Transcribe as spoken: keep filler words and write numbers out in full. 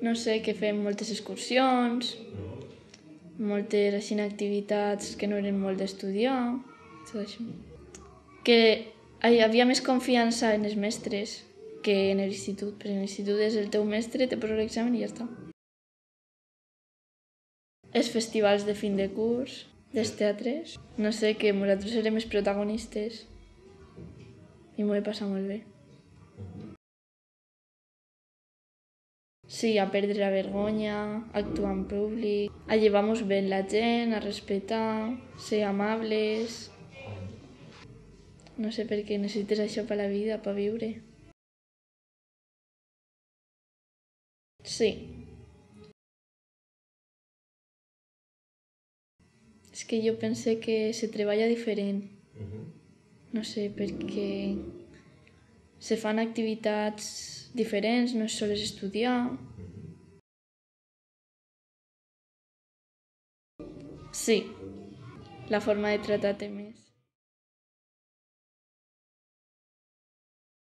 No sé, que fem moltes excursions, moltes així, activitats que no eren molt d'estudiar, tot això. Que hi havia més confiança en els mestres que en l'institut, perquè en l'institut és el teu mestre, te posa l'examen i ja està. Els festivals de fin de curs, dels teatres, no sé, que nosaltres érem els protagonistes i m'ho he passat molt bé. Sí, a perdre la vergonya, a actuar en públic, a llevar-nos bé la gent, a respetar, ser amables. No sé per què necessites això per la vida, per viure. Sí. És que jo pense que se treballa diferent. No sé, perquè se fan activitats diferents, no és sols estudiar. Sí, la forma de tractar-te més.